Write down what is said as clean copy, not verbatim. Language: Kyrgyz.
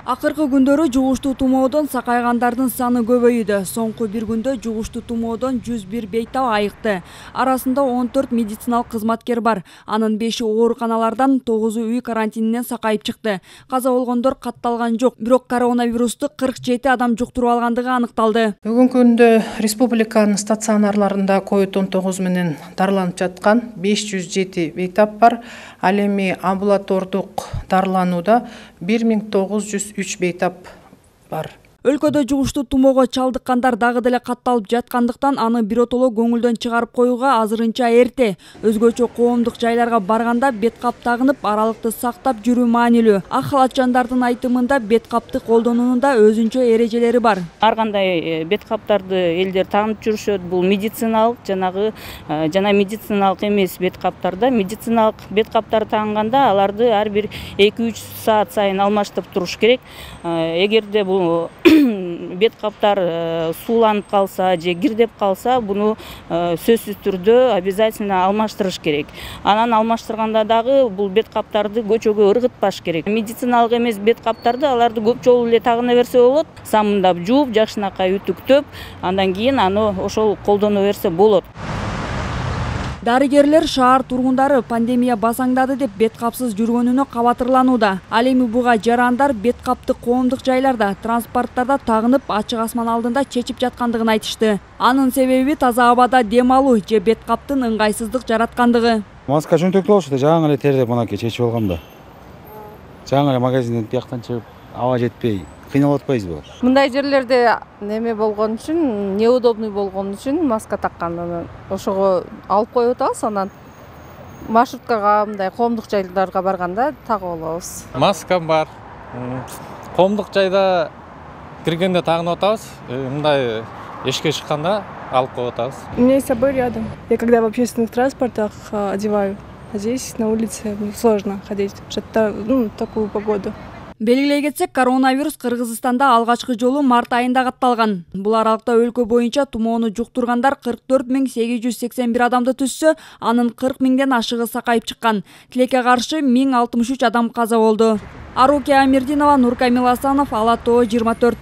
Акыркы күндөрү жугуштуу тумоодон сакайгандардын саны көбөйүүдө. Соңку бир күндө жугуштуу тумоодон 101 бейтап айыкты. Арасында 14 медициналык кызматкер бар. Анын 5-и ооруканалардан, 9-у үй карантининен сакайып чыкты. Каза болгондор катталган жок. Бирок коронавирусту 47 адам жуктуруп алгандыгы аныкталды. Бүгүнкү күндө республиканын стационарларында COVID-19 менен дарыланып жаткан 507 бейтап бар. Ал эми амбулатордук дарыланууда 1903 бейтап бар. Өлкөдө жугуштуу тумоого чалдыккандар дагы деле катталып жаткандыктан аны биротоло көңүлдөн чыгарып коюуга азырынча эрте. Өзгөчө коомдук жайларга барганда бет кап тагынып, аралыкты сактап жүрүү маанилүү. Ак халатчандардын айтымында бет капты колдонуунда өзүнчө эрежелери бар. Ар кандай бет каптарды элдер тагынып жүрүшөт. Бул медициналык жана медициналык эмес бет каптарда. Медициналык бет каптар тагынганда аларды ар бир 2-3 саат сайын алмаштырып туруш керек. Эгерде бул бет каптар сууланып калса же кирдеп калса, буну сөзсүз түрдө обязательно алмаштырыш керек. Анан алмаштырганда дагы бул бет каптарды көчөгө ыргытпаш керек. Медициналык эмес бет каптарды аларды көп жолу эле тагына берсе болот. Самындап жууп, жакшынакай үтүктөп, андан кийин аны ошол колдоно берсе болот. Дарыгерлер шаар тургундары пандемия басаңдады деп бет капсыз жүргөнүнө кабатырланууда. Ал эми буга жарандар бет капты коомдук жайларда, транспорттарда тагынып, ачык асман алдында чечип жаткандыгын айтышты. Анын себеби таза абада дем алуу же бет каптын ыңгайсыздык жараткандыгы. Маска жөнтөктүү болчу да, жаңы эле тердеп мынакей чечип алгам да. Жаңы эле магазинден бияктан чыгып, аба жетпей кыйналып атпайбызбы? Мындай жерлерде неме болгон үчүн, неудобный болгон үчүн маска такканын ошого алып коюп атабыз, анан маршруткага, мындай коомдук жайларга барганда тагып алабыз. Маскам бар. Коомдук жайда киргенде тагынып атабыз. Мындай эшикке чыкканда алып коюп атабыз. У меня есть с собой рядом. Я когда в общественных транспортах одеваю, а здесь на улице сложно ходить в такую погоду. Белгилей кетсек, коронавирус Кыргызстанда алгачкы жолу март айында катталган. Бул аралыкта өлкө боюнча тумоону жуктургандар 44 881 адамды түзсө, анын 40 000ден ашыгы сакайып чыккан. Тилекке каршы 1063 адам каза болду. Арукия Амирдинова, Нуркамил Асанов, Ала Тоо 24.